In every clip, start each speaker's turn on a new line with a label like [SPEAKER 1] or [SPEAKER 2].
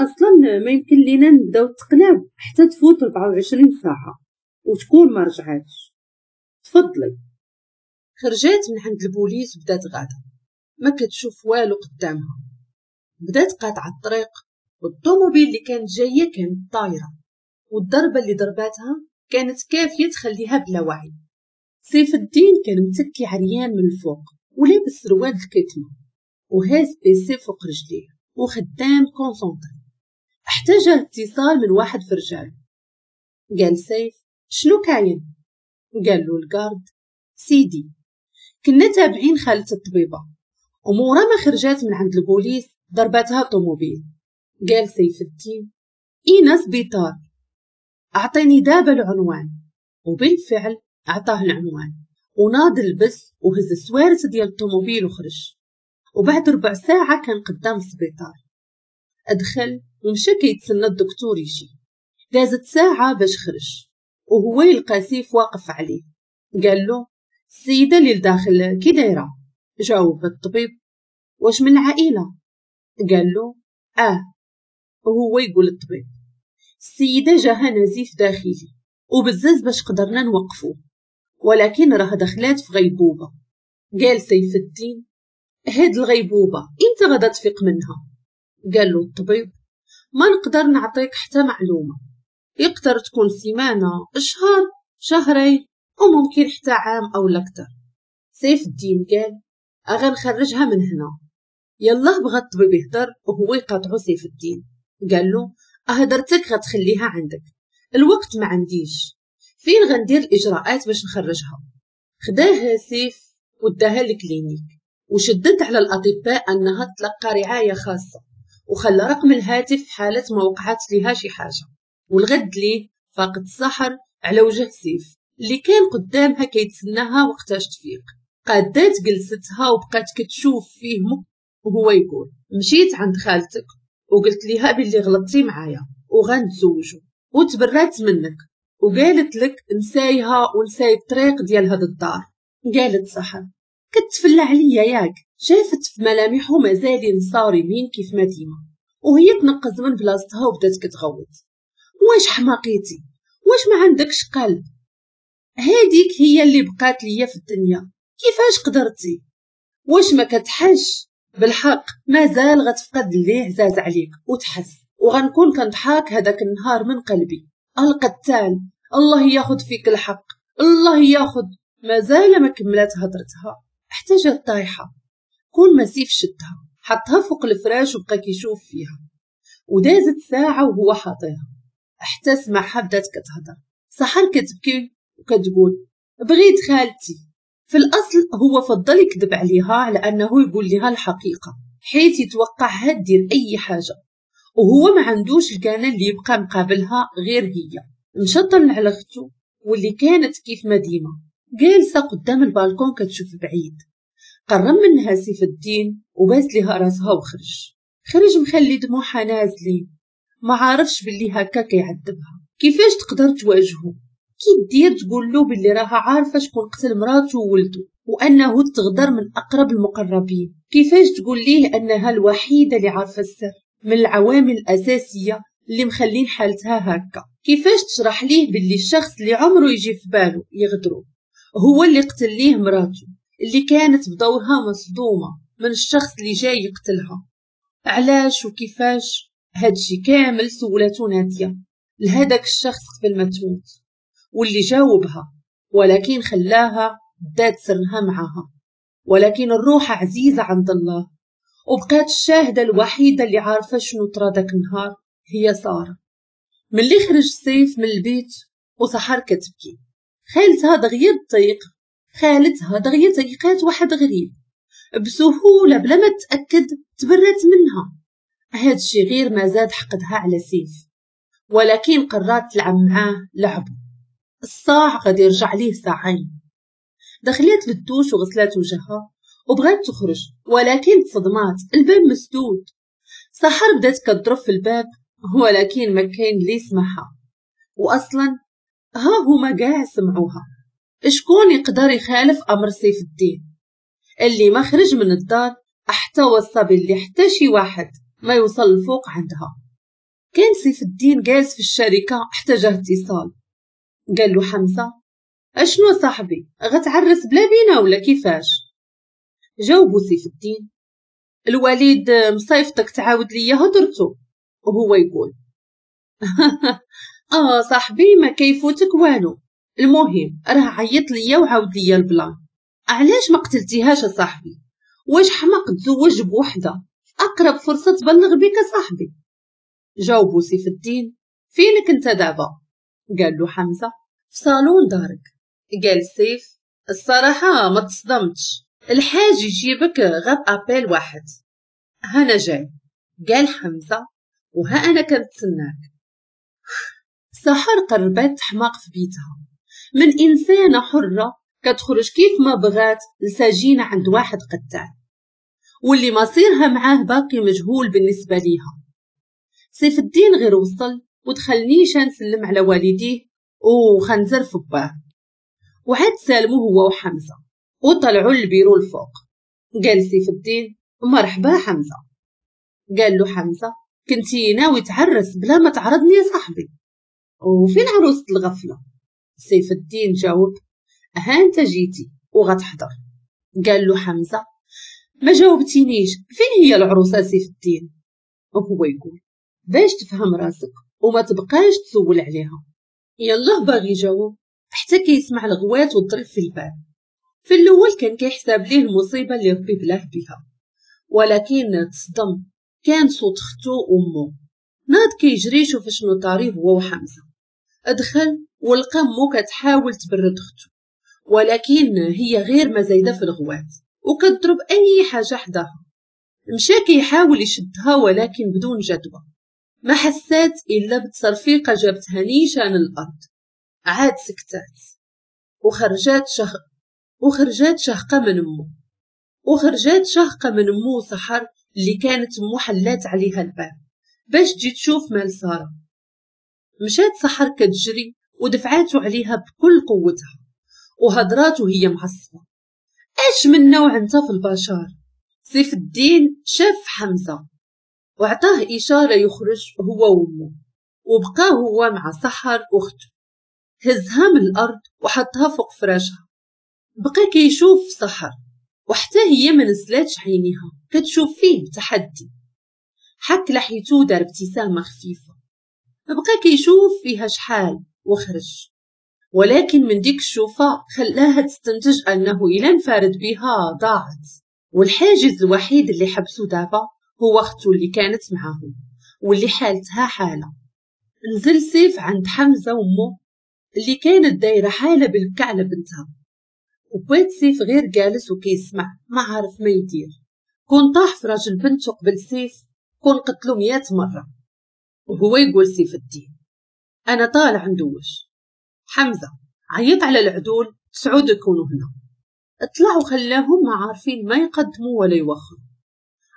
[SPEAKER 1] اصلا ما يمكن لينا نبداو التقلاب حتى تفوت 24 ساعة وتكون ما رجعاتش. تفضلي. خرجات من عند البوليس وبدات غاده، ما كتشوف والو قدامها. بدات قاطعه الطريق، والطوموبيل اللي كانت جاية كانت طايره، والضربه اللي ضرباتها كانت كافيه تخليها بلا وعي. سيف الدين كان متكي عريان من الفوق ولابس سروال الكتمه وهاز PC فوق رجليه وخدام concentré. حتى جاه اتصال من واحد في رجاله. قال سيف شنو كاين؟ قال له ال garde سيدي كنا تابعين خالة الطبيبة، ومورا ما خرجات من عند البوليس ضربتها طوموبيل. قال سيف الدين اينا سبيطار؟ اعطيني دابا العنوان. وبالفعل اعطاه العنوان، وناض لبس وهز السوارت ديال الطوموبيل وخرج. وبعد ربع ساعة كان قدام السبيطار. ادخل ومشى كيتسنى الدكتور يجي. دازت ساعة باش خرج، وهو يلقى سيف واقف عليه. قال له السيدة اللي لداخل كي دايرة؟ جاوب الطبيب واش من العائلة؟ قال له اه. وهو يقول الطبيب السيدة جاها نزيف داخلي وبزز باش قدرنا نوقفوه، ولكن راه دخلات في غيبوبة. قال سيف الدين هاد الغيبوبة امتى غادا تفيق منها؟ قال له الطبيب ما نقدر نعطيك حتى معلومة، يقدر تكون سيمانة، شهر، شهرين، وممكن حتى عام او اكثر. سيف الدين قال غنخرجها من هنا. يلا بغى الطبيب يهدر وهو يقاطعو سيف الدين. قال له هدرتك غتخليها عندك، الوقت ما عنديش، فين غندير الاجراءات باش نخرجها؟ خداها سيف وداها لل clinique، وشدد على الاطباء انها تلقى رعاية خاصة، وخلى رقم الهاتف في حاله ما وقعت ليها شي حاجة. والغد ليه فاقت السحر على وجه سيف اللي كان قدامها كيتسناها وقتاش تفيق. قادات جلستها وبقات كتشوف فيه وهو يقول مشيت عند خالتك وقلت ليها باللي غلطتي معايا وغنتزوجوا، وتبرات منك وقالت لك نسايها ونساي الطريق ديال هاد الدار. قالت سحر كتفلى عليا ياك؟ شافت في ملامحه مازالين صارمين كيف ما ديما، وهي تنقز من بلاصتها وبدات كتغوت واش حماقيتي؟ واش ما عندكش قلب؟ هاديك هي اللي بقات ليا في الدنيا، كيفاش قدرتي؟ واش ما كتحش؟ بالحق مازال غتفقد اللي عزاز عليك وتحس، وغنكون كنضحك هذاك النهار من قلبي. القتال الله ياخد فيك الحق، الله ياخد. مازال ما كملات هضرتها حتى جات طايحة. كون ما سيف شدها حطها فوق الفراش وبقى كيشوف فيها. ودازت ساعة وهو حاطيها حتى سمعها بدات كتهضر. سحر كتبكي وكتقول بغيت خالتي. في الاصل هو فضل يكذب عليها على انه يقول لها الحقيقة، حيث يتوقعها دير اي حاجة، وهو ما عندوش الكانه اللي يبقى مقابلها غير هي. مشى طلع على اختو واللي كانت كيف ما ديما جالسة قدام البالكون كتشوف بعيد. قرب منها سيف الدين وباس لها راسها وخرج. خرج مخلي دموعها نازلين، ما عارفش باللي هكا كيعذبها. كيفاش تقدر تواجهه؟ كي دير تقول له باللي راها عارفه شكون قتل مراته وولده وانه تغدر من اقرب المقربين؟ كيفاش تقول ليه انها الوحيدة اللي عارفه السر من العوامل الاساسية اللي مخلين حالتها هكا؟ كيفاش تشرح ليه باللي الشخص اللي عمره يجي في باله يغدره هو اللي قتل ليه مراته اللي كانت بدورها مصدومة من الشخص اللي جاي يقتلها؟ علاش وكيفاش؟ هادشي كامل سولاتو ناديه لهداك الشخص قبل ما تموت، واللي جاوبها ولكن خلاها دات سرها معاها. ولكن الروح عزيزة عند الله، وبقات الشاهدة الوحيدة اللي عارفة شنو طرا داك النهار هي سارة. ملي خرج سيف من البيت وسحر كتبكي، خالتها دغيا تطيق، خالتها دغيا تيقات واحد غريب بسهولة بلا ما تأكد تبرت منها. هادشي غير ما زاد حقدها على سيف، ولكن قررت تلعب معاه لعبه. الصاع غادي يرجع ليه ساعين. دخلت للدوش وغسلات وجهها وبغات تخرج، ولكن تصدمات، الباب مسدود. سحر بدات كتضرب في الباب ولكن ما كاين اللي يسمعها، واصلا ها هما كاع سمعوها. شكون يقدر يخالف امر سيف الدين اللي ما خرج من الدار حتى وصى باللي حتى شي واحد ما يوصل الفوق عندها؟ كان سيف الدين جالس في الشركة حتى جاه اتصال. قال له حمزة: اشنو صاحبي، غتعرس بلا بينا ولا كيفاش؟ جاوبو سيف الدين: الوليد مصيفطك تعاود ليا هضرتو. وهو يقول: صاحبي ما كيفوتك والو، المهم راه عيط ليا وعاود ليا ال plan. علاش ما قتلتيهاش صاحبي؟ واش حمق تزوج بوحده؟ اقرب فرصة تبلغ بك صاحبي. جاوبو سيف الدين: فينك انت دابا؟ قال له حمزة: في صالون دارك. قال سيف: الصراحة ما تصدمتش، الحاج يجيبك غاب appel واحد، هانا جاي. قال حمزة: وها انا كنتسناك. سحر قربت تحماق في بيتها، من انسانه حره كتخرج كيف ما بغات لسجينه عند واحد قتال، واللي مصيرها معاه باقي مجهول بالنسبة ليها. سيف الدين غير وصل ودخل نيشان سلم على والديه وخنزر في باه، وعاد سالمو هو وحمزة وطلعوا للبيرو الفوق. قال سيف الدين: مرحبا حمزة. قال له حمزة: كنتي ناوي تعرس بلا ما تعرضني يا صاحبي، وفين عروسة الغفلة؟ سيف الدين جاوب: ها انت جيتي وغتحضر. قال له حمزة: ما جاوبتينيش، فين هي العروسة سيف الدين؟ وهو يقول: باش تفهم راسك وما تبقاش تسول عليها. يلا باغي يجاوب حتى كيسمع الغوات والضرب في الباب. في الاول كان كيحسب ليه المصيبة اللي ربي بلاه بها، ولكن تصدم، كان صوت اختو وامو. ناض كيجري يشوف شنو طاري هو وحمزة. ادخل ولقى امو كتحاول تبرد اختو، ولكن هي غير ما زايدة في الغوات وكتضرب اي حاجة حداها. مشى كيحاول يشدها ولكن بدون جدوى، ما حسات الا بتصرفيقه جابتها نيشان الارض. عاد سكتات وخرجات شهقه من امو، وخرجات شهقه من امو سحر اللي كانت امو حلات عليها الباب باش تجي تشوف مال ساره. مشات سحر كتجري ودفعاتو عليها بكل قوتها وهضرات وهي معصبة: اش من نوع انت في البشر؟ سيف الدين شاف حمزة وعطاه اشارة يخرج هو وامه، وبقى هو مع سحر اخته. هزها من الارض وحطها فوق فراشها. بقى كيشوف سحر وحتى هي ما نزلاتش عينيها، كتشوف فيه بتحدي. حك لحيته ودار ابتسامة خفيفة. بقى كيشوف فيها شحال وخرج، ولكن من ديك الشوفه خلاها تستنتج انه الا انفرد بها ضاعت، والحاجز الوحيد اللي حبسو دابا هو اختو اللي كانت معاهم واللي حالتها حاله. نزل سيف عند حمزة وامه اللي كانت دايرة حاله بالبكا على بنتها، وبات سيف غير جالس وكيسمع ما عارف ما يدير. كون طاح في راجل بنته قبل سيف كون قتلو 100 مرة. وهو يقول سيف الدين: انا طالع ندوش. حمزة عيط على العدول 9 يكونوا هنا. طلعوا خلاهم ما عارفين ما يقدموا ولا يوخروا،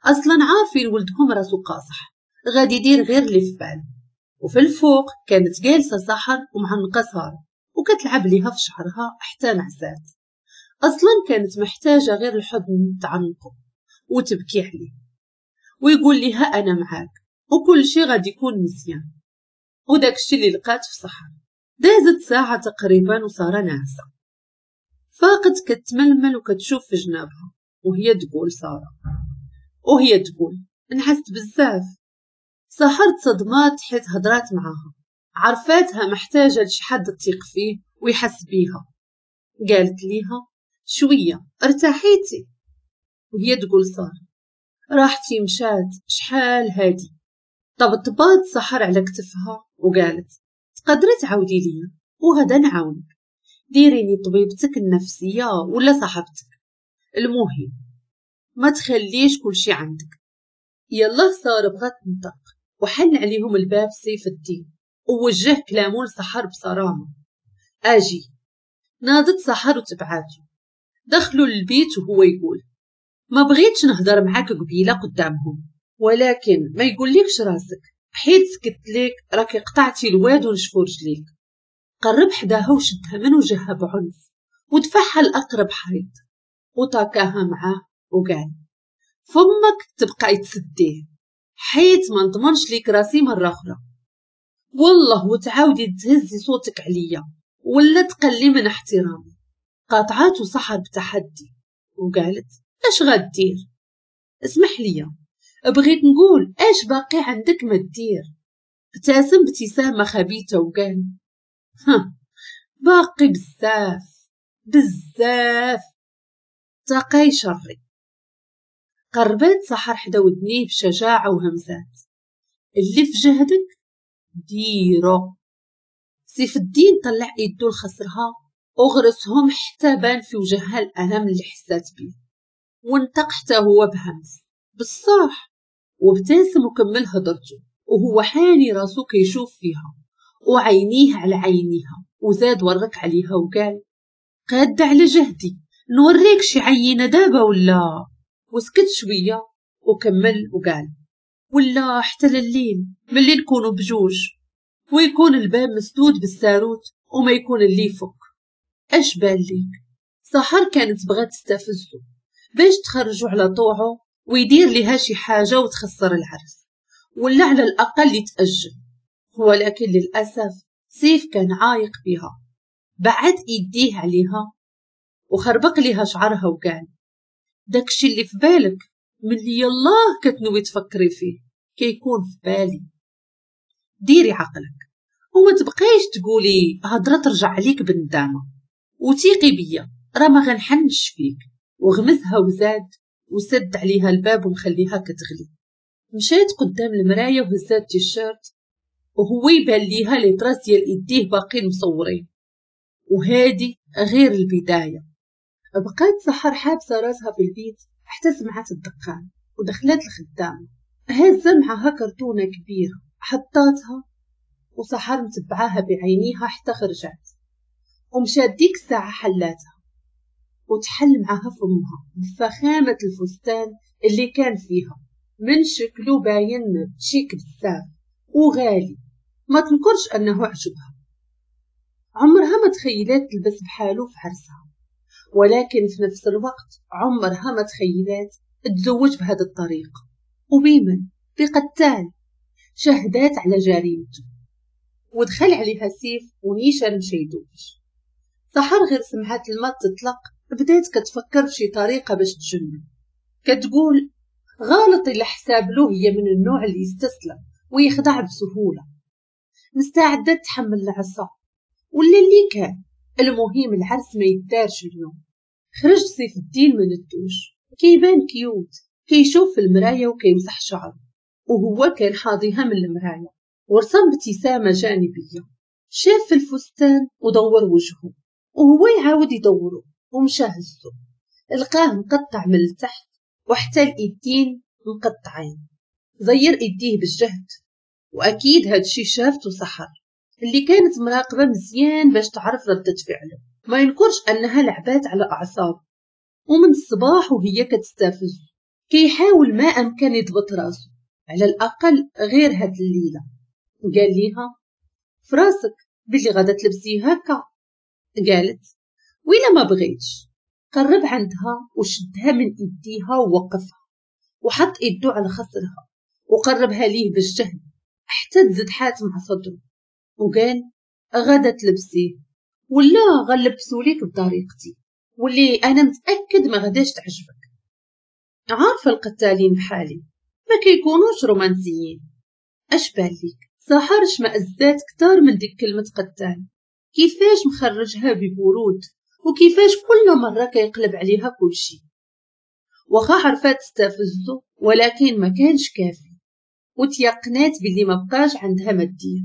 [SPEAKER 1] اصلا عارفين ولدهم راسو قاصح غادي يدير غير اللي في باله. وفي الفوق كانت جالسة سحر ومعنقه ساره وكتلعب ليها في شعرها حتى نعسات. اصلا كانت محتاجه غير الحضن تعنقه وتبكي عليه ويقول لها انا معاك وكل شيء غادي يكون مزيان. وداك الشيء اللي لقات في سحر. دازت ساعة تقريبا وسارة ناعسه. فاقت كتململ وكتشوف في جنابها وهي تقول ساره، وهي تقول نحست بزاف. سحر تصدمات حيت هضرات معاها، عرفاتها محتاجه لشي حد تثق فيه ويحس بيها. قالت ليها: شوية ارتاحيتي؟ وهي تقول ساره: راحتي مشات شحال هادي. طبطبات سحر على كتفها وقالت: تقدري تعاودي ليا وغدا نعاونك، ديريني طبيبتك النفسية ولا صاحبتك، المهم ما تخليش كلشي عندك. يلا ساره بغات تنطق وحل عليهم الباب سيف الدين ووجه كلامه لسحر بصرامه: اجي. ناضت سحر وتبعاتو. دخلوا للبيت وهو يقول: ما بغيتش نهضر معاك قبيلة قدامهم، ولكن ما يقوليكش راسك حيت سكت ليك راكي قطعتي الواد ونشفو رجليك. قرب حداها وشدها من وجهها بعنف ودفعها لأقرب حيط وطاكاها معاه وقال: فمك تبقى تسديه حيت ما نضمنش ليك راسي مرة اخرى. والله وتعاودي تهزي صوتك عليا ولا تقلي من احترامي. قاطعاتو سحر بتحدي وقالت اش غدير؟ اسمح لي، بغيت نقول اش باقي عندك ما دير؟ ابتسم ابتسامة خبيثة وقال ها باقي بزاف بزاف، تقاي شري. قربات سحر حدا ودنيه بشجاعة وهمسات اللي في جهدك ديرو. سيف الدين طلع يدو لخصرها وغرسهم حتى بان في وجهها الألم اللي حسات بيه، وانطق حتى هو بهمس بالصح، وابتسم وكمل هضرته وهو حاني راسو كيشوف فيها وعينيه على عينيها، وزاد ورك عليها وقال قادة على جهدي نوريك شي عينة دابا ولا؟ وسكت شوية وكمل وقال ولا حتى لليل ملي نكونوا بجوج ويكون الباب مسدود بالساروت وما يكون اللي يفك. اش بان ليك؟ سحر كانت بغات تستفزو باش تخرجو على طوعه ويدير لها شي حاجة وتخسر العرس ولا على الأقل يتأجل، ولكن للأسف سيف كان عايق بها. بعد يديه عليها وخربق لها شعرها وقال داكشي اللي في بالك ملي يلاه كتنوي تفكري فيه كيكون في بالي. ديري عقلك وما تبقايش تقولي هضره ترجع عليك بالندامه، وثيقي بيا راه ما غنحنش فيك. وغمزها وزاد وسد عليها الباب ومخليها كتغلي. مشات قدام المراية وهزات تيشيرت وهو يبان ليها les traces ديال يديه باقين مصورين، وهادي غير البداية. بقات سحر حابسه راسها في البيت حتى سمعت الدقان ودخلت الخدامة هازه معها كرتونة كبيرة حطاتها، وسحر متبعاها بعينيها حتى خرجت ومشات ديك الساعة حلاتها وتحل معها فمها بفخامه الفستان اللي كان فيها، من شكله باين شيك بزاف وغالي، ما تنكرش انه عجبها. عمرها ما تخيلات تلبس بحالو في عرسها، ولكن في نفس الوقت عمرها ما تخيلات تزوج بهذا الطريقة وبيمن بقتال. شهدات على جريمته ودخل عليها سيف ونيشان مشى يدوش. سحر غير سمعت الماء تطلق بدات كتفكر في شي طريقة باش تجنب، كتقول غلط إلا حساب له هي من النوع اللي يستسلم ويخدع بسهولة، مستعدة تحمل العصا ولا اللي كان، المهم العرس ما يدارش اليوم. خرج سيف الدين من الدوش كيبان cute، كيشوف في المراية وكيمسح شعره وهو كان حاضيها من المراية، ورسم ابتسامة جانبية. شاف في الفستان ودور وجهه وهو يعاود يدوره ومشى هزو، لقاه مقطع من التحت وحتى الايدين مقطعين. زير ايديه بالجهد، واكيد هادشي شافته سحر اللي كانت مراقبة مزيان باش تعرف ردة فعله. ما ينكرش انها لعبات على اعصابه ومن الصباح وهي كتستفز، كيحاول ما امكن يضبط راسه على الاقل غير هاد الليلة. قال ليها فراسك بلي غادا تلبسي هكا؟ قالت ويلا ما بغيتش. قرب عندها وشدها من ايديها ووقفها وحط ايدو على خصرها وقربها ليه بالجهد حتى تزدحات مع صدره وقال غادا تلبسيه ولا غنلبسو ليك بطريقتي واللي انا متاكد ما غاداش تعجبك. عارفه القتالين بحالي ما كيكونوش رومانسيين. اش بان ليك؟ سحر شمأزات كتار من ديك كلمة قتال، كيفاش مخرجها ببرود وكيفاش كل مرة كيقلب عليها كلشي. واخا عرفات تستفزو ولكن ما كانش كافي، وتيقنات باللي ما بقاش عندها ما دير.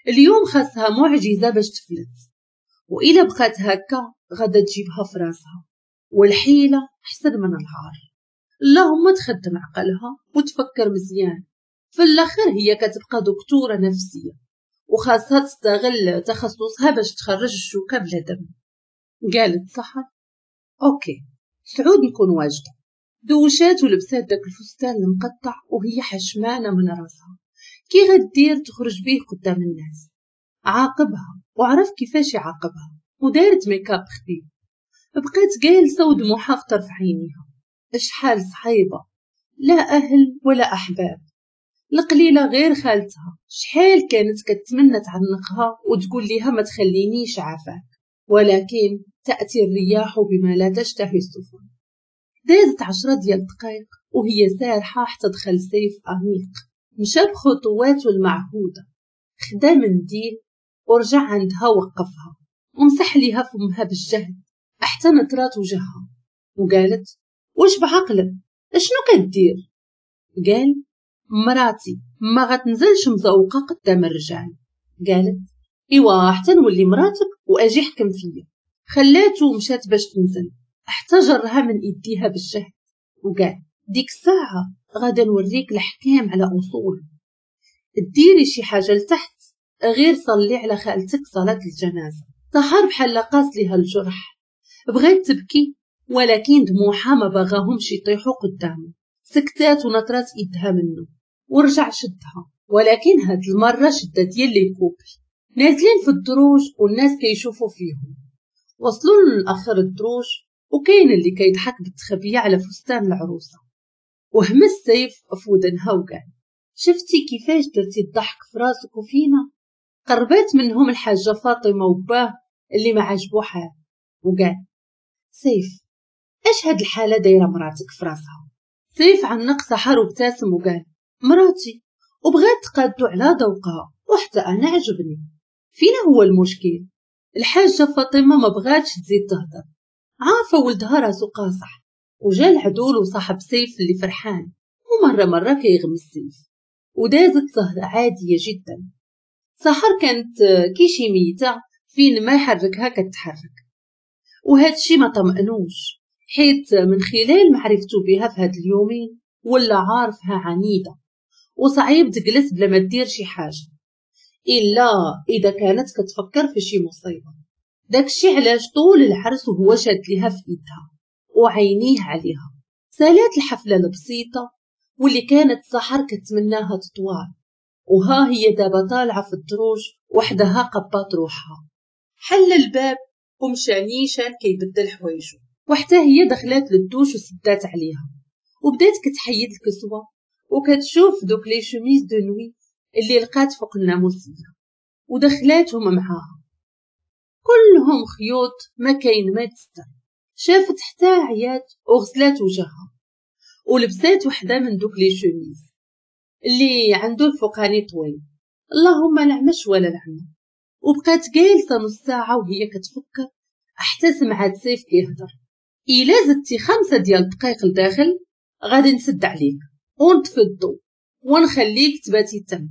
[SPEAKER 1] اليوم خاصها معجزه باش تفلت، وإلا بقات هكا غادا تجيبها في راسها، والحيله احسن من العار. اللهم تخدم عقلها وتفكر مزيان. في الاخر هي كتبقى دكتورة نفسية وخاصها تستغل تخصصها باش تخرج الشوكة بلا دم. قالت سحر OK سعود نكون واجدة. دوشات ولبسات داك الفستان المقطع وهي حشمانه من راسها، كي غدير تخرج بيه قدام الناس. عاقبها وعرف كيفاش يعاقبها ودارت ميكاب خفيف. بقات جالسة ودموعها في طرف عينيها. شحال صعيبة، لا اهل ولا احباب، القليلة غير خالتها شحال كانت كتمنى تعنقها وتقول ليها ما تخلينيش عافاك، ولكن تأتي الرياح بما لا تشتهي السفن. دازت 10 ديال الدقائق وهي سارحة حتى دخل سيف أنيق، مشى بخطواته المعهودة، خدا منديل ورجع عندها وقفها ومسح ليها فمها بالجهد حتى نطرات وجهها وقالت واش بعقلك اشنو كدير؟ قال مراتي ما غتنزلش مزوقه قدام الرجال. قالت ايوا حتى نولي مراتك واجي حكم فيا. خلاتو ومشات باش تنزل حتى جرها من ايديها بالجهد وقال ديك الساعة غادا نوريك الحكام على اصول، ديري شي حاجة لتحت غير صلي على خالتك صلاة الجنازة. سحر بحال قاس ليها الجرح، بغات تبكي ولكن دموعها ما بغاهمش يطيحوا قدامه. سكتات ونطرات ايدها منه ورجع شدها، ولكن هاد المرة شده ديال les couples. نازلين في الدروج والناس كيشوفوا فيهم. وصلوا لاخر الدروج وكاين اللي كيضحك بالتخبيه على فستان العروسة، وهمس سيف في ودنها وقال شفتي كيفاش درتي الضحك في راسك وفينا؟ قربات منهم الحاجة فاطمة وباه اللي ما عجبو حال وقال سيف اش هاد الحالة دايرة مراتك في راسها؟ سيف عنق سحر وابتسم وقال مراتي وبغات تقادو على ذوقها وحتى انا عجبني، فينا هو المشكل؟ الحاجة فاطمة ما بغاتش تزيد تهضر، عارفه ولدها راسو قاصح. وجا العدول وصاحب سيف اللي فرحان ومرة مرة كيغمس سيف، ودازت سهره عادية جدا. سحر كانت كي شي ميته فين ما يحركها كتحرك، وهذا الشيء ما طمأنوش حيت من خلال معرفته بها في هاد اليومين ولا عارفها عنيدة وصعيب تجلس بلا ما دير شي حاجة الا اذا كانت كتفكر في شي مصيبة. داكشي علاش طول العرس وهو شاد ليها في ايدها وعينيه عليها. سالات الحفلة البسيطة واللي كانت سحر كتمناها تطوال، وها هي دابا طالعه في الدروج وحدها قبات روحها. حل الباب ومشى نيشان كيبدل حوايجو، وحتى هي دخلات للدوش وسدات عليها وبدات كتحيد الكسوة وكتشوف دوك les chemises de nuit اللي لقات فوق الناموسيه ودخلاتهم معاها، كلهم خيوط ما كاين ما تستر. شافت حتى عيات وغسلات وجهها ولبسات وحده من دوك les chemises اللي عنده الفوقاني طويل، اللهم العمش ولا العمى. وبقات جالسة نص ساعة وهي كتفكر حتى سمعات سيف كيهضر الا زدتي 5 ديال الدقائق لداخل غادي نسد عليك ونطفي الضو ونخليك تباتي تم.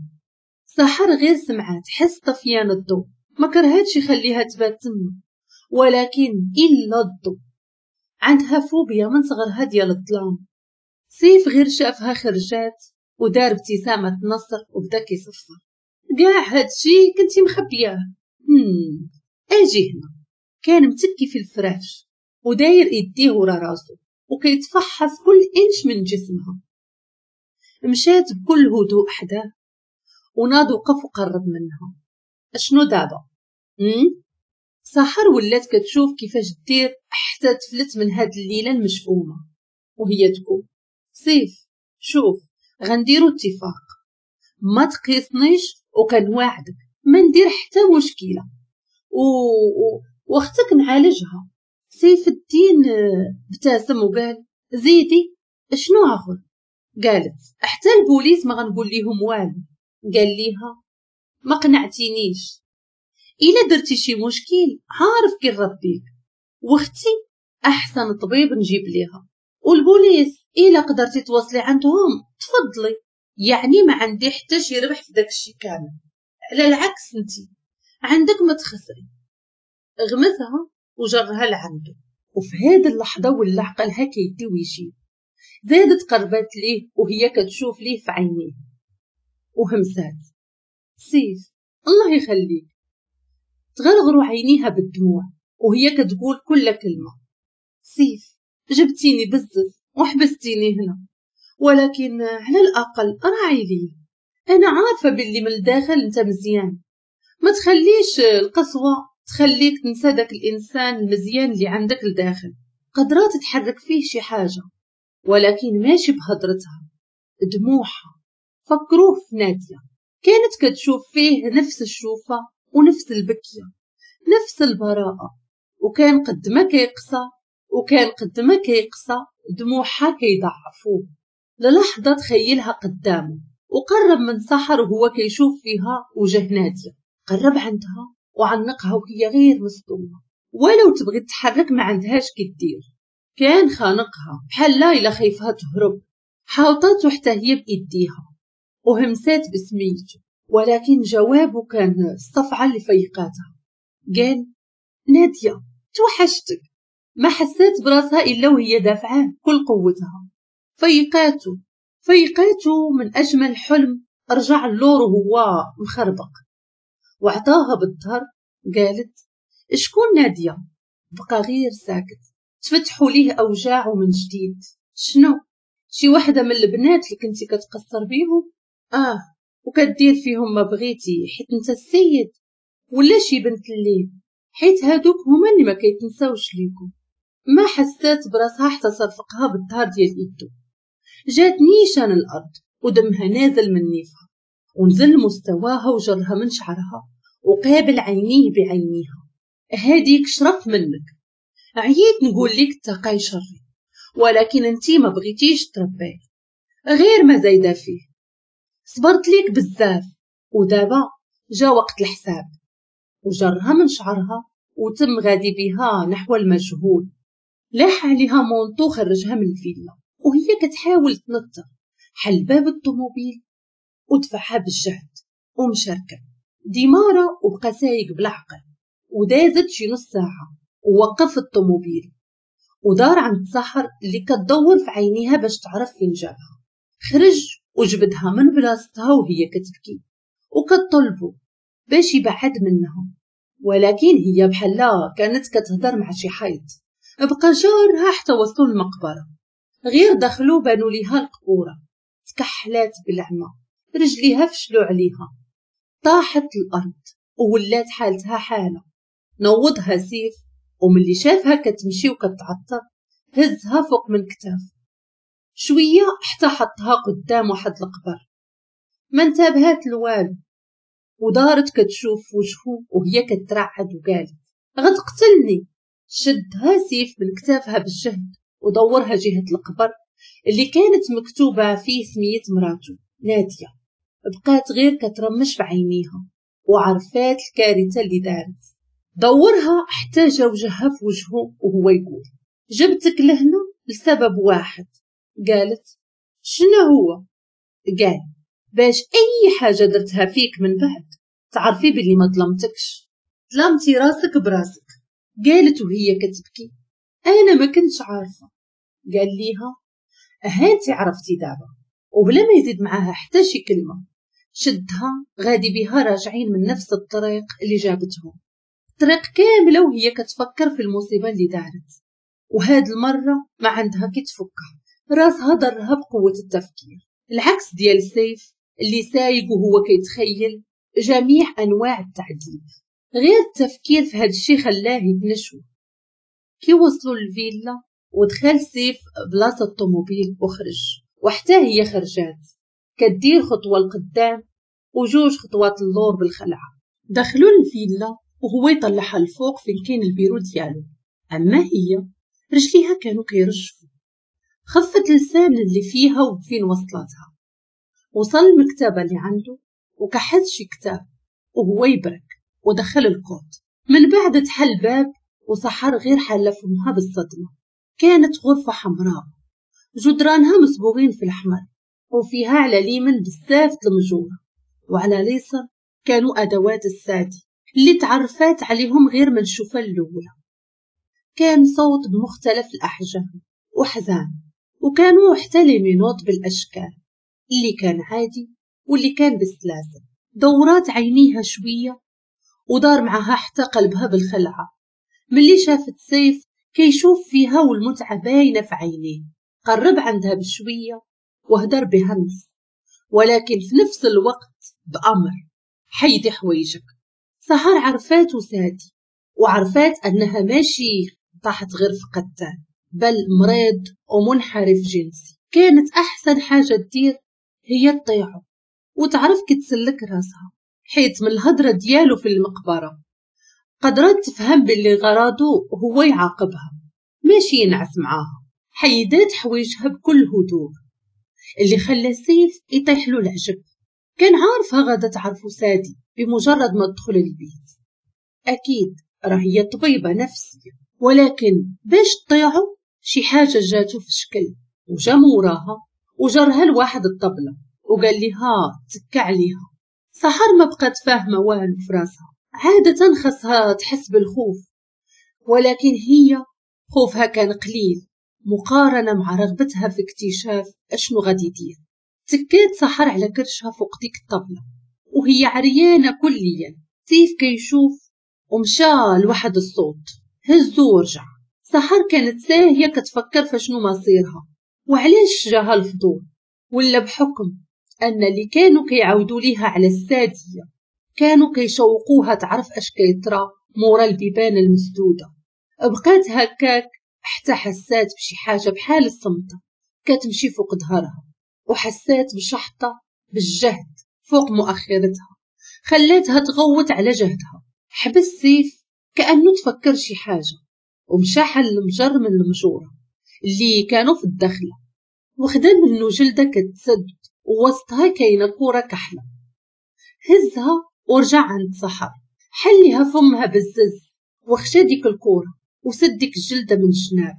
[SPEAKER 1] سحر غير سمعات حس طفيان الضو ما كرهتش يخليها تبات تم، ولكن الا الضو عندها فوبيا من صغرها ديال الظلام. سيف غير شافها خرجات ودار ابتسامة نصر وبدا كيصفر كاع هادشي كنتي مخبياه. اجي هنا. كان متكي في الفراش وداير ايديه ورا راسو وكيتفحص كل انش من جسمها. مشات بكل هدوء حداه وناض وقف وقرب منها. اشنو دابا؟ سحر ولات كتشوف كيفاش دير حتى تفلت من هاد الليلة المشؤومه وهي تقول سيف شوف غنديرو اتفاق، ما تقيسنيش وكنواعدك ما ندير حتى مشكلة واختك نعالجها. سيف الدين ابتسم وقال زيدي شنو اخر؟ قالت حتى البوليس ما غنقول ليهم والو. قال ليها ما قنعتينيش، الا درتي شي مشكل عارف كي نربيك، واختي احسن طبيب نجيب ليها، والبوليس الا قدرتي توصلي عندهم تفضلي، يعني ما عندي حتى شي ربح في داكشي كامل، على العكس انتي عندك ما تخسري. غمزها وجرها لعنده، وفي هذه اللحظة ولا عقلها كيدي ويجيب. زادت قربات ليه وهي كتشوف ليه في عينيه وهمسات سيف الله يخليك. تغرغروا عينيها بالدموع وهي كتقول كل كلمة سيف جبتيني بزز وحبستيني هنا، ولكن على الاقل راعي لي، انا عارفه باللي من الداخل انت مزيان، ما تخليش القسوة تخليك تنسى داك الانسان المزيان اللي عندك لداخل. قدرات تحرك فيه شي حاجة ولكن ماشي بهضرتها، دموعها فكروه في نادية. كانت كتشوف فيه نفس الشوفة ونفس البكية، نفس البراءة، وكان قد ما كيقسى وكان قد ما كيقسى دموعها كيضعفوه. للحظة تخيلها قدامه وقرب من سحر وهو كيشوف فيها وجه نادية. قرب عندها وعنقها وهي غير مصدومة، ولو تبغي تتحرك ما عندهاش كدير. كان خانقها بحال لا إلا خايفها تهرب. حاوطته حتى هي بإيديها وهمسات بسميته، ولكن جوابه كان الصفعة اللي فيقاتها. قال نادية توحشتك. ما حسات براسها إلا وهي دافعاه كل قوتها. فيقاته من أجمل حلم. رجع اللور وهو مخربق وعطاها بالظهر. قالت شكون نادية؟ بقى غير ساكت. تفتحوا ليه أوجاعه من جديد. شنو؟ شي واحدة من البنات اللي كنتي كتقصر بيهم؟ وكدير فيهم ما بغيتي حيت انت السيد، ولا شي بنت الليل حيت هادوك هما اللي ما كيتنساوش ليكم. ما حسات براسها حتى صرفقها بالظهر ديال ايدو. جات نيشان الارض ودمها نازل من نيفها، ونزل مستواها وجرها من شعرها وقابل عينيه بعينيها. هاديك شرف منك، عييت نقول لك تقاي شري، ولكن انتي ما بغيتيش تربيه، غير ما زايدة فيه. صبرت ليك بزاف ودابا جا وقت الحساب. وجرها من شعرها وتم غادي بها نحو المجهول. لاح عليها manteau خرجها من الفيلا وهي كتحاول تنطر. حل باب الطوموبيل ودفعها بالجهد ومشى ركب démarra وبقى سايق بالعقل. ودازت شي نص ساعة ووقف الطوموبيل ودار عند سحر اللي كتدور في عينيها باش تعرف فين جابها. خرج وجبدها من بلاصتها وهي كتبكي وكتطلبو باش يبعد منها، ولكن هي بحال كانت كتهضر مع شي حيط. بقى جارها حتى وصلوا المقبرة. غير دخلوا بانوا ليها القبوره، تكحلات بالعمى، رجليها فشلوا عليها، طاحت الارض وولات حالتها حاله. نوضها سيف، وملي شافها كتمشي وكتعطر هزها فوق من كتافه شوية حتى حطها قدام واحد القبر. ما انتبهت لوالو ودارت كتشوف وجهه وهي كترعد وقالت غتقتلني. شدها سيف من كتافها بالجهد ودورها جهة القبر اللي كانت مكتوبة فيه سمية مراته نادية. بقات غير كترمش في عينيها وعرفات الكارثة اللي دارت. دورها حتى جا وجهها في وجهه وهو يقول جبتك لهنا لسبب واحد. قالت شنو هو؟ قال باش اي حاجة درتها فيك من بعد تعرفي باللي ما ظلمتكش، ظلمتي راسك براسك. قالت وهي كتبكي انا ما كنتش عارفه. قال ليها هانتي عرفتي دابا. وبلا ما يزيد معاها حتى شي كلمة شدها غادي بها راجعين من نفس الطريق اللي جابتهم. الطريق كاملة وهي كتفكر في المصيبة اللي دارت، وهاد المرة ما عندها كي تفكها، راسها ضرها بقوة التفكير. العكس ديال سيف اللي سايق وهو كيتخيل جميع انواع التعذيب. غير التفكير في هاد الشي خلاه يتنشو. كي وصلوا للفيلا ودخل سيف بلاصة الطوموبيل وخرج، وحتى هي خرجات كدير خطوة لقدام وجوج خطوات اللور بالخلعه. دخلوا للفيلا وهو يطلعها الفوق فين كاين البيرو ديالو. اما هي رجليها كانوا كيرجفوا، خفت لسان اللي فيها وفين وصلتها. وصل المكتبة اللي عنده وكحز شي كتاب وهو يبرك ودخل الكود. من بعد تحل باب وسحر غير حل فمها بالصدمة. كانت غرفة حمراء جدرانها مصبوغين في الاحمر، وفيها على اليمين بزاف المجوره، وعلى اليسار كانوا ادوات السادي اللي تعرفات عليهم غير من الشوفه الاولى. كان صوت بمختلف الاحجام وحزان، وكانوا حتى les menottes بالاشكال اللي كان عادي واللي كان بالسلاسل. دورات عينيها شوية ودار معها حتى قلبها بالخلعه ملي شافت سيف كيشوف فيها والمتعة باينة في عينيه. قرب عندها بشوية وهدر بهمس، ولكن في نفس الوقت بأمر حيدي حوايجك. سحر عرفات وسادي، وعرفات أنها ماشي طاحت غير في قتال، بل مريض ومنحرف جنسي. كانت أحسن حاجة تدير هي تطيعه. وتعرف كتسلك راسها، حيت من الهضرة ديالو في المقبرة قدرت تفهم باللي غراضو هو يعاقبها ماشي ينعس معاها. حيدات حوايجها بكل هدوء اللي خلى سيف يطيح له العجب. كان عارفها غادا تعرفو سادي بمجرد ما تدخل البيت، اكيد راه هي طبيبه نفسية، ولكن باش تطيعو شي حاجة جاتو في شكل، وجا موراها وجرها لواحد الطبلة وقال لها تكا عليها. سحر ما بقات فاهمه والو في راسها، عادة خاصها تحس بالخوف، ولكن هي خوفها كان قليل مقارنة مع رغبتها في اكتشاف اشنو غادي يدير. تكات سحر على كرشها فوق ديك الطبلة وهي عريانه كليا. سيف كيشوف ومشى لواحد الصوت هزو ورجع. سحر كانت ساهيه كتفكر فشنو مصيرها وعلاش جاها الفضول، ولا بحكم ان اللي كانوا كيعاودوا ليها على الساديه كانوا كيشوقوها تعرف اش كيطرى مورا البيبان المسدوده. بقات هكاك حتى حسات بشي حاجة بحال الصمته كتمشي فوق ظهرها، وحسات بشحطه بالجهد فوق مؤخرتها خلاتها تغوت على جهدها. حبس سيف كأنه تفكر شي حاجة ومشى حل المجر من المجوره اللي كانوا في الدخلة، وخدا منه جلده كتسد ووسطها كاينه كره كحلة. هزها ورجع عند سحر، حليها فمها بالزز وخشى ديك الكره وسد ديك الجلدة من الجناب،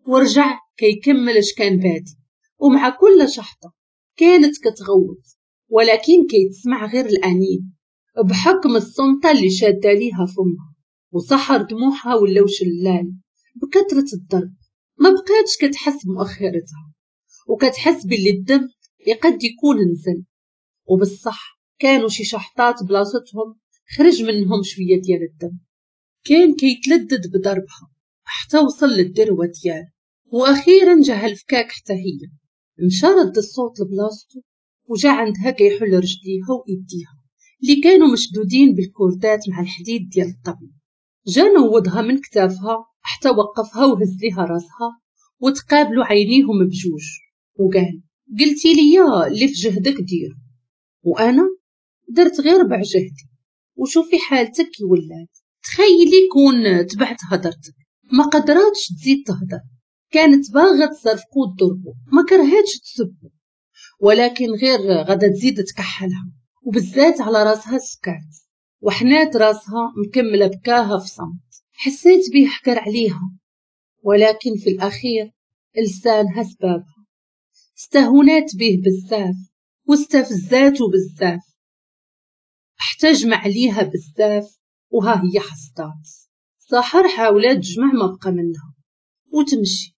[SPEAKER 1] ورجع كيكمل اش كان بادي. ومع كل شحطه كانت كتغوت، ولكن كيتسمع غير الانين بحكم الصمته اللي شاده ليها فمها. وسحر دموعها ولاو شلال بكثرة الضرب، ما بقاتش كتحس بمؤخرتها وكتحس باللي الدم يقد يكون نزل، وبالصح كانوا شي شحطات بلاصتهم خرج منهم شوية ديال الدم. كان كيتلدد بضربها حتى وصل للذروه ديالو، واخيرا جاها الفكاك حتى هي. مشى رد الصوت لبلاصتو وجا عندها كيحل رجليها وايديها اللي كانوا مشدودين بالكوردات مع الحديد ديال الطبل. جا نوضها من كتافها حتى وقفها وهز ليها راسها وتقابلوا عينيهم بجوج وقال: قلتي لي اللي في جهدك دير، وانا درت غير ربع جهدي، وشوفي حالتك كي ولات. تخيلي كون تبعت هضرتك. ما قدراتش تزيد تهضر، كانت باغا تصرفقو وتضربو، ما كرهاتش تسبو، ولكن غير غادا تزيد تكحلها، وبالذات على راسها سكات وحنات راسها مكملة بكاها في صمت. حسيت بيه حكر عليها، ولكن في الاخير لسانها سبابها. استهونات به بزاف واستفزاتو بزاف، حتى جمع ليها بزاف وها هي حصدات. سحر حاولات تجمع ما بقى منها وتمشي،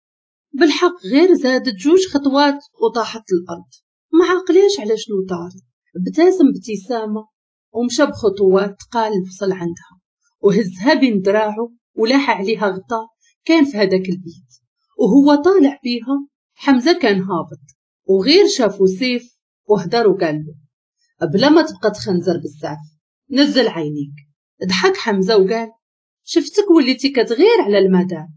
[SPEAKER 1] بالحق غير زادت جوج خطوات وطاحت الارض. ما عقليش على شنو طاري. ابتسم ابتسامة ومشى بخطوات قال وصل عندها وهزها بين دراعه ولاح عليها غطاء كان في هذاك البيت. وهو طالع بيها حمزة كان هابط، وغير شافو سيف وهدر وقال له: بلا ما تبقى تخنزر بزاف، نزل عينيك. ضحك حمزة وقال: شفتك وليتي كتغير على المدام،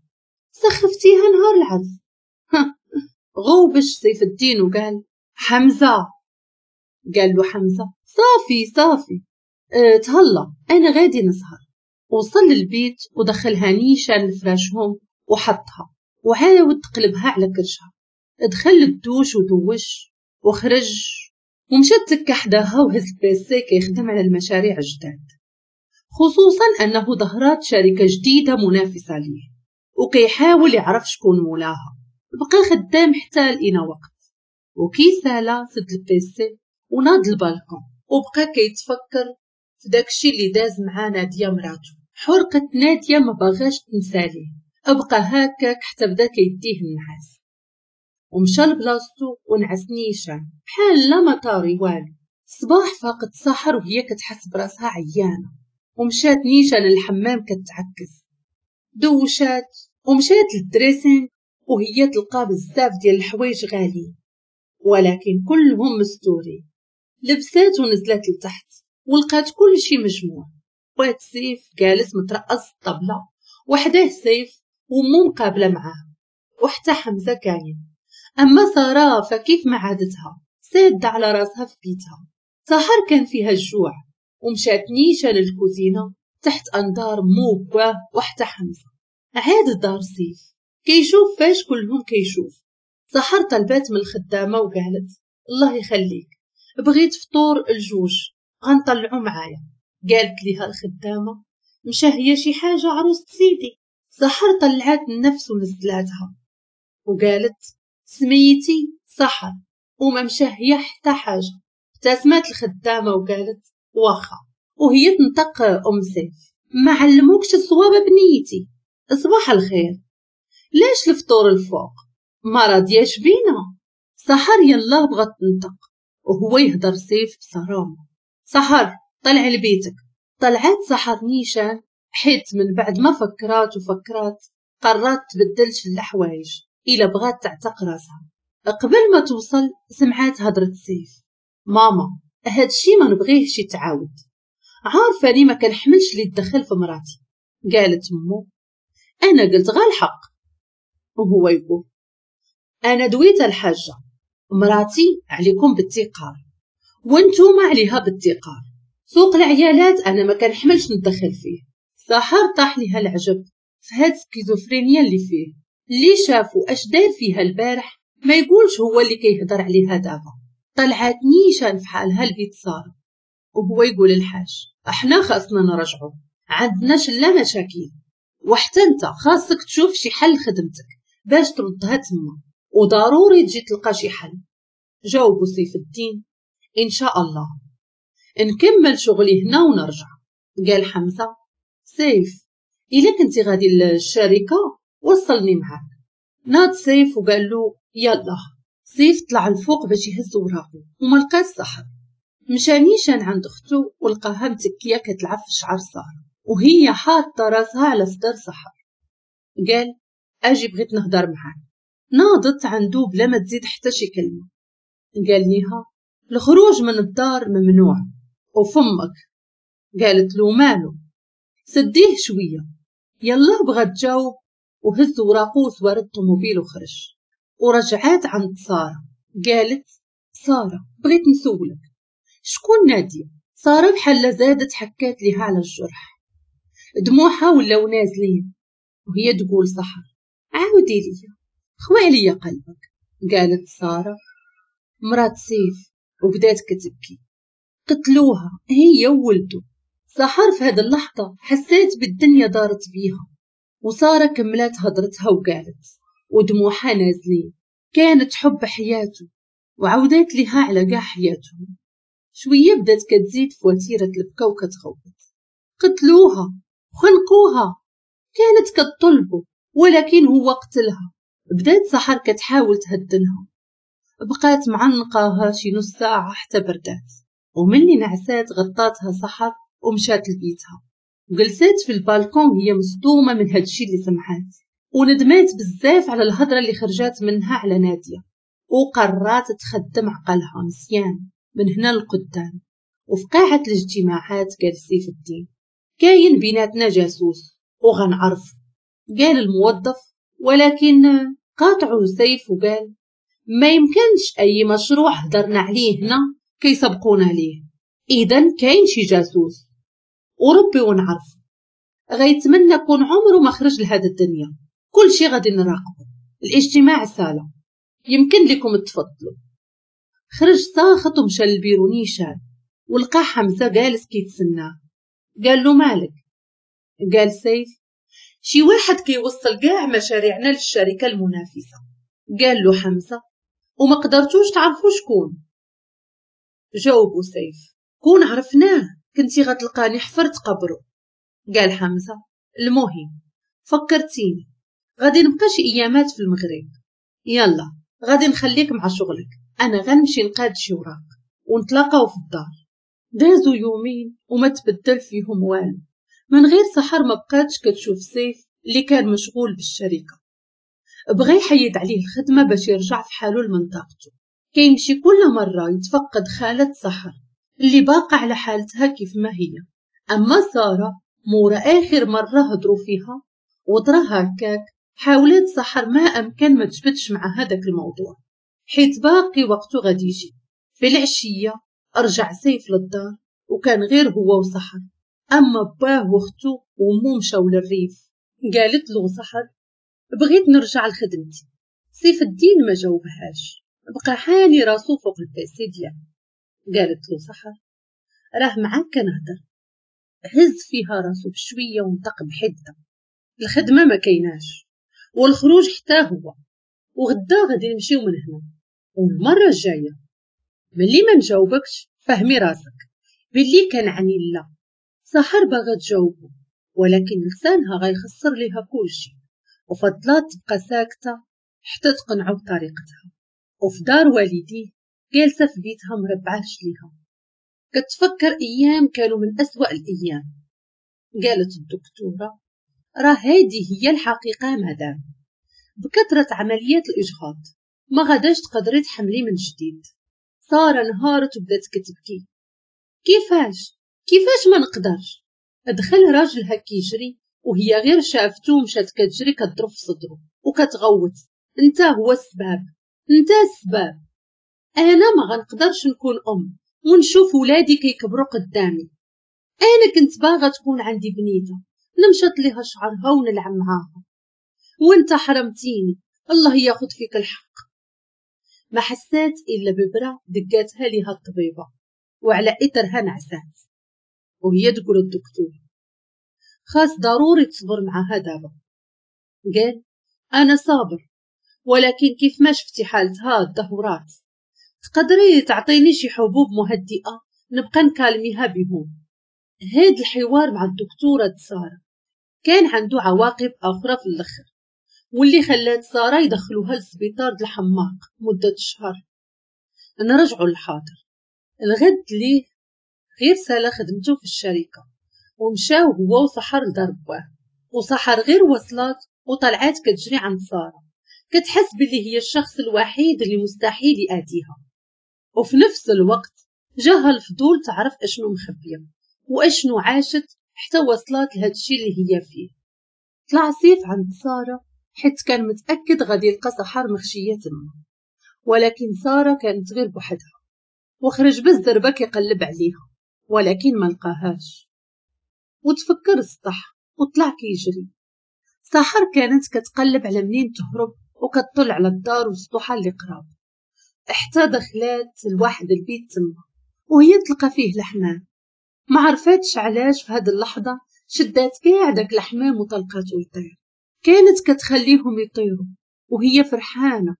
[SPEAKER 1] سخفتيها نهار العرس. غوبش سيف الدين وقال: حمزة. قال له حمزة: صافي صافي، تهلا انا غادي نسهر. وصل للبيت ودخلها نيشان لفراشهم وحطها وعاود تقلبها على كرشها. دخل الدوش ودوش وخرج ومشى تكا حداها وهز ال PC كيخدم على المشاريع الجداد، خصوصا انه ظهرات شركة جديدة منافسه ليه وكيحاول يعرف شكون مولاها. بقى خدام حتى لقينا وقت، وكي سالا سد ال PC وناض البالكون وبقى كيتفكر في داكشي اللي داز مع ناديه مراتو. حرقة ناديه ما باغاش تنساليه، ابقى هكاك حتى بدا كيديه النعاس ومشى لبلاصتو ونعس نيشان بحال لا ما طاري والو. الصباح فاقت سحر وهي كتحس براسها عيانه، ومشات نيشان للحمام كتعكس. دوشات ومشات لل dressing وهي تلقى بزاف ديال الحوايج غاليين ولكن كلهم مستورين. لبسات ونزلت لتحت ولقات كل شي مجموع. واد سيف جالس مترقص الطبلة وحداه سيف ومو مقابله معاه، وحتى حمزة كاين. اما ساره فكيف ما عادتها ساده على راسها في بيتها. سحر كان فيها الجوع ومشات نيشان للكوزينه تحت انظار مو باه وحتى حمزة. عاد دار سيف كيشوف فاش كلهم كيشوف. سحر طلبات من الخدامة وقالت الله يخليك بغيت فطور الجوج غنطلعو معايا. قالت ليها الخدامة مشى هي شي حاجة عروس سيدي. سحر طلعات النفس ونزلاتها وقالت سميتي سحر وما مشى هي حتى حاجة. ابتسمت الخدامة وقالت واخا، وهي تنطق ام سيف ما علموكش الصواب بنيتي، صباح الخير، لاش الفطور الفوق ما راضياش بينا. سحر يلا بغات تنطق وهو يهضر سيف بصرامه، سحر طلع لبيتك. طلعت سحر نيشان حيت من بعد ما فكرات وفكرات قررت تبدل شي الحوايج الا بغات تعتق راسها. قبل ما توصل سمعات هضره سيف، ماما هادشي ما نبغيهش يتعاود، عارفه لي ما كنحملش اللي تدخل في مراتي. قالت مو انا قلت غا الحق، وهو يقول انا دويت الحاجة مراتي عليكم بالتقار وانتوما عليها بالتقار، سوق العيالات انا ما كنحملش ندخل فيه. سحر طاح ليها العجب في هاد السكيزوفرينيا اللي فيه، اللي شافو اش دار فيها البارح ما يقولش هو اللي كيهضر عليها دابا. طلعات نيشان في حالها البيت ساره، وهو يقول الحاج احنا خاصنا نرجعو عندنا شلا مشاكل، وحتى انت خاصك تشوف شي حل خدمتك باش تردها تما، وضروري تجي تلقى شي حل. جاوبوا سيف الدين ان شاء الله نكمل شغلي هنا ونرجع. قال حمزة سيف الا كنتي غادي للشركة وصلني معاك. ناض سيف وقال له يلا. سيف طلع الفوق باش يهز وراقو وما لقاش سحر. مشى نيشان عند اختو ولقاها متكيه كتلعب في شعر ساره وهي حاطه راسها على صدر سحر. قال اجي بغيت نهضر معاك. ناضت عنده بلا ما تزيد حتى شي كلمة. قال ليها الخروج من الدار ممنوع وفمك. قالت له مالو؟ سديه شوية. يلا بغات تجاوب وهز وراقو وسوار الطوموبيل وخرج. ورجعات عند ساره قالت ساره بغيت نسولك شكون ناديه؟ ساره بحال زادت حكات ليها على الجرح، دموعها ولاو نازلين وهي تقول سحر عاودي ليا خوي عليا قلبك. قالت ساره مرات سيف وبدات كتبكي، قتلوها هي وولده. سحر في هذه اللحظة حسيت بالدنيا دارت بيها. وسارة كملت هضرتها وقالت ودموعها نازلين كانت حب حياته وعودات لها على كاع حياتهم. شوية بدات كتزيد في وتيرة البكا وكتغوت، قتلوها خنقوها، كانت كتطلبه ولكن هو قتلها. بدات سحر كتحاول تهدنها، بقات معنقاها شي نص ساعة حتى بردات، ومني نعسات غطاتها سحر ومشات لبيتها. وجلسات في البالكون هي مصدومة من هادشي اللي سمعات، وندمات بزاف على الهضرة اللي خرجات منها على نادية، وقررت تخدم عقلها مزيان من هنا لقدام. وفي قاعة الاجتماعات قال سيف الدين كاين بيناتنا جاسوس وغنعرف. قال الموظف ولكن قاطعه سيف وقال ما يمكنش اي مشروع هدرنا عليه هنا كيسبقونا ليه، اذا كاين شي جاسوس وربي ونعرف. غيتمنى كون عمره ما خرج لهاد الدنيا، كل شي غادي نراقبه. الاجتماع سالا يمكن لكم تفضلوا. خرج ساخط ومشى للبيرو نيشان ولقى حمزة جالس كيتسناه. قال له مالك؟ قال سيف شي واحد كيوصل كاع مشاريعنا للشركة المنافسة. قال له حمزة وما قدرتوش تعرفوا شكون؟ جاوبوا سيف كون عرفناه كنتي غتلقاني حفرت قبره. قال حمزة المهم فكرتيني غادي نبقى شي ايامات في المغرب، يلا غادي نخليك مع شغلك، انا غنمشي نقاد شي وراق ونتلاقاو في الدار. دازو يومين وما تبدل فيهم والو، من غير سحر ما بقاتش كتشوف سيف اللي كان مشغول بالشركة. بغى يحيد عليه الخدمة باش يرجع في حاله لمنطقته. كيمشي كل مرة يتفقد خالة سحر اللي باقة على حالتها كيف ما هي. اما ساره مورا اخر مرة هضروا فيها وطرا هكاك، حاولت سحر ما امكن ما تجبدش مع هذاك الموضوع حيت باقي وقته غادي يجي. في العشية رجع سيف للدار وكان غير هو وسحر، اما باه واختو ومو مشاو للريف. قالت له سحر بغيت نرجع لخدمتي. سيف الدين ما جاوبهاش، بقى حاني راسو فوق ال PC ديالو. قالت له سحر راه معاك كنهضر. هز فيها راسو بشوية ونطق بحده، الخدمة ما كايناش والخروج حتى هو، وغدا غادي نمشيو من هنا، والمرة الجاية ملي ما نجاوبكش فهمي راسك باللي كان عني لا. سحر باغا تجاوبو ولكن لسانها غيخسر ليها كلشي، وفضلات تبقى ساكته حتى تقنعو بطريقتها. وفي دار والديه جالسة في بيتها مربعه رجليها كتفكر ايام كانوا من اسوأ الايام. قالت الدكتورة راه هذه هي الحقيقة مدام، بكثرة عمليات الاجهاض ما غاداش تقدري تحملي من جديد. ساره انهارت وبدات كتبكي. كيفاش ما نقدرش؟ دخل راجلها كيجري وهي غير شافتو مشات كتجري كضرب في صدرو وكتغوت، انت هو السباب، انت السباب، انا ما غنقدرش نكون ام ونشوف ولادي كيكبروا قدامي، انا كنت باغا تكون عندي بنيته نمشط ليها شعرها ونلعب معاها، وانت حرمتيني، الله ياخذ فيك الحق. ما حسات الا ببرة دقاتها ليها الطبيبة وعلى اثرها نعسات. وهي تقول الدكتور خاص ضروري تصبر معاها دابا. قال انا صابر، ولكن كيف ما شفتي حالتها الدهورات، تقدري تعطيني شي حبوب مهدئه نبقى نكالميها بهم. هاد الحوار مع الدكتورة ساره كان عنده عواقب اخرى في الاخر، واللي خلات ساره يدخلوها للسبيطار د الحماق مده شهر. نرجعوا للحاضر. الغد ليه غير سالا خدمته في الشركة ومشاو هو وسحر لدار باه، وسحر غير وصلات وطلعات كتجري عند ساره، كتحس باللي هي الشخص الوحيد اللي مستحيل يأذيها. وفي نفس الوقت جاها الفضول تعرف اشنو مخبيه واشنو عاشت حتى وصلت لهادشي اللي هي فيه. طلع سيف عند ساره حيت كان متاكد غادي يلقى سحر مخشيه تما، ولكن ساره كانت غير بوحدها، وخرج بالزربه كيقلب عليها ولكن ما لقاهاش. وتفكر السطح وطلع كيجري. سحر كانت كتقلب على منين تهرب وكتطل على الدار والسطوحه اللي قراب، حتى دخلات لواحد البيت تما وهي تلقى فيه الحمام. ما عرفاتش علاش في هاد اللحظة شدات كاع داك الحمام وطلقاتو يطير. كانت كتخليهم يطيروا وهي فرحانة،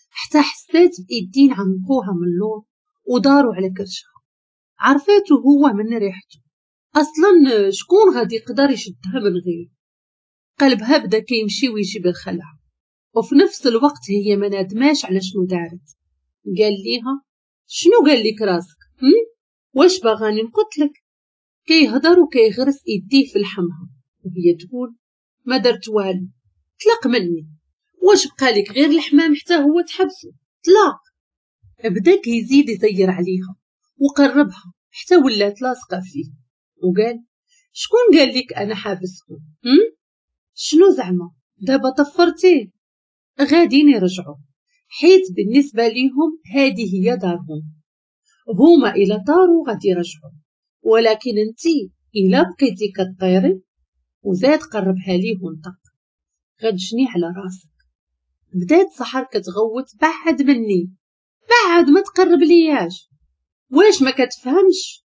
[SPEAKER 1] حتى حسات بايدين عنقوها من اللور وداروا على كرشها. عرفاتو هو من ريحته، اصلا شكون غادي يقدر يشدها من غيره؟ قلبها بدا كيمشي ويجي بالخلع، وفي نفس الوقت هي ما نادماش على شنو دارت. قال ليها شنو قال لك راسك؟ واش باغاني نقتلك؟ كيهضر وكيغرس ايديه في لحمها وهي تقول ما درت والو، طلق مني، واش بقى لك غير الحمام حتى هو تحبسو؟ طلق. بدا كيزيد يزير عليها وقربها حتى ولات لاصقه فيه، وقال شكون قال لك انا حابسكم؟ شنو زعما دابا طفرتيه؟ غاديين يرجعوا، حيت بالنسبة ليهم هذه هي دارهم، هما الى طاروا غادي يرجعوا، ولكن انتي الى بقيتي كطيري. وزاد قربها ليه ونطق غتجني على راسك. بدات سحر كتغوت بعد مني، بعد ما تقرب لياش، واش ما كتفهمش؟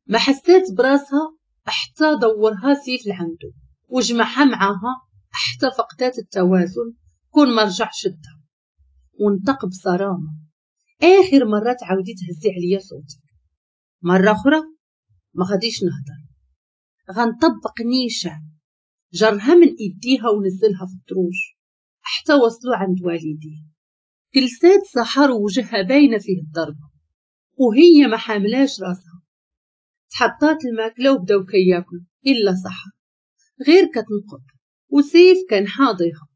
[SPEAKER 1] ما حسات براسها حتى دورها سيف لعندو وجمعها معاها حتى فقدات التوازن، كون ما رجع شدها. ونطق بصرامه اخر مرة تعاودي تهزي عليا صوتك، مرة اخرى ما غاديش نهضر، غنطبق نيشه. جرها من ايديها ونزلها في الدروج حتى وصلوا عند والديه. جلسات سحر ووجهها باينة فيه الضربة وهي ما حاملاش راسها. تحطات الماكلة وبداو كياكلوا الا سحر غير كتنقب، وسيف كان حاضيها.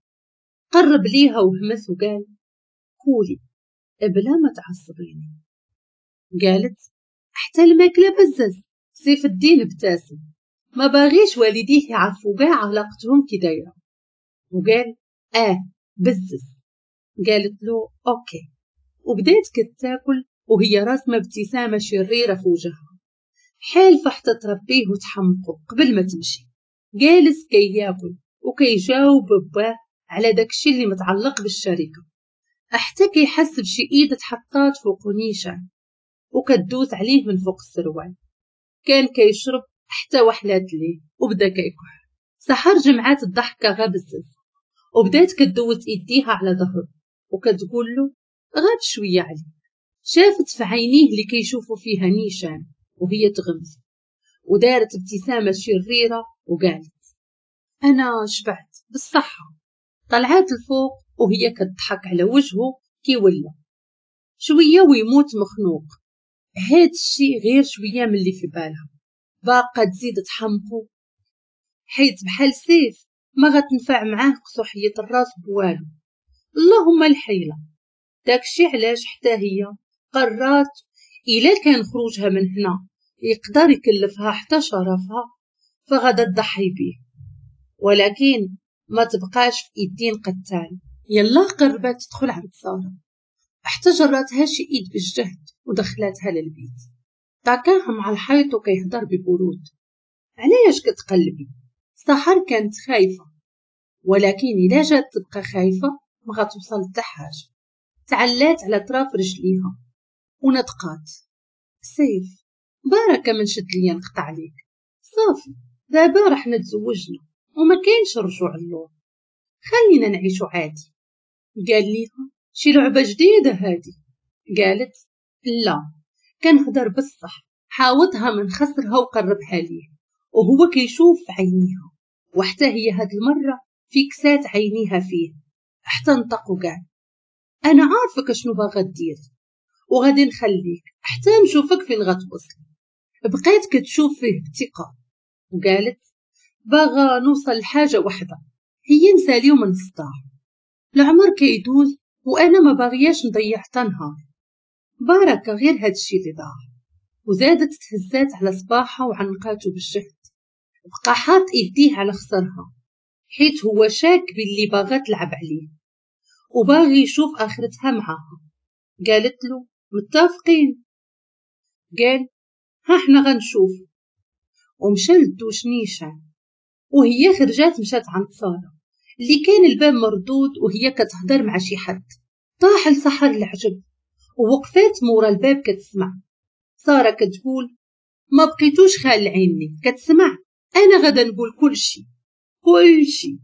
[SPEAKER 1] قرب ليها وهمس وقال كولي بلا ما تعصبيني. قالت حتى الماكلة بزز. سيف الدين ابتسم، ما باغيش والديه يعرفوا كاع علاقتهم كي دايرة، وقال بزز. قالت له OK، وبدات كتاكل وهي راسمه ابتسامة شريرة في وجهها، حالفه حتى تربيه وتحمقه قبل ما تمشي. جالس كياكل وكيجاوب باه على داكشي اللي متعلق بالشركة، حتى كيحس بشي ايد تحطات فوق نيشان وكدوز عليه من فوق السروال. كان كيشرب حتى وحلات ليه وبدا كيكح. سحر جمعات الضحكة غا بزز وبدات كدوز ايديها على ظهره وكتقول له غاب شوية عليه. شافت في عينيه اللي كيشوفوا فيها نيشان وهي تغمز ودارت ابتسامة شريرة وقالت انا شبعت بالصحة. طلعات الفوق وهي كتضحك على وجهه كي ولا شوية ويموت مخنوق. هاد الشي غير شوية من اللي في بالها، باقا تزيد تحمقو حيت بحال سيف ما غتنفع معاه قصوحيه الراس بوالو، اللهم الحيلة. داكشي علاش حتى هي قررت الا كان خروجها من هنا يقدر يكلفها حتى شرفها فغادا تضحي بيه، ولكن ما تبقاش في ايدين قتال. يلا قربت تدخل عند ساره حتى جراتها شي ايد بالجهد ودخلاتها للبيت. تاكاها مع الحيط وكيهضر ببرود، علاش كتقلبي؟ سحر كانت خايفة، ولكن الا جات تبقى خايفة ما غتوصل حتى حاجة. تعلات على طراف رجليها ونطقات، سيف بركة من شد ليا نقطع عليك، صافي دابا رحنا تزوجنا وما كاينش رجوع اللور، خلينا نعيشو عادي. قال ليها شي لعبه جديدة هادي؟ قالت لا كنهضر بالصح. حاوطها من خصرها وقربها ليه وهو كيشوف في عينيها، وحتى هي هاد المرة فيكسات عينيها فيه حتى نطق وقال انا عارفك شنو باغا دير وغادي نخليك حتى نشوفك فين غتوصل. بقيت كتشوف فيه بثقة وقالت باغا نوصل لحاجة وحده، هي نساليو من الصداع، العمر كيدوز وانا ما باغياش نضيع حتى نهار، بركة غير هادشي اللي ضاع. وزادت تهزات على صباحها وعنقاتو بالجهد. بقى حاط ايديه على خصرها حيت هو شاك باللي باغا تلعب عليه وباغي يشوف اخرتها معاها. قالت له متفقين؟ قال ها حنا غنشوف، ومشى للدوش نيشان. وهي خرجات مشات عند ساره اللي كان الباب مردود وهي كتهضر مع شي حد. طاح لسحر العجب ووقفات مورا الباب كتسمع. ساره كتقول ما بقيتوش خال عيني كتسمع، انا غادا نقول كلشي كلشي.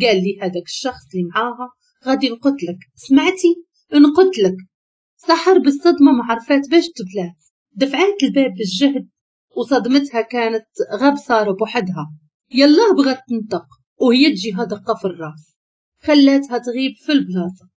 [SPEAKER 1] قال لي هذاك الشخص اللي معاها غادي نقتلك، سمعتي نقتلك. سحر بالصدمة ما عرفات باش تبلات، دفعات الباب بالجهد وصدمتها كانت غاب ساره بوحدها. يلا بغات تنطق وهي تجيها دقه في الراس خلاتها تغيب في البلاصة.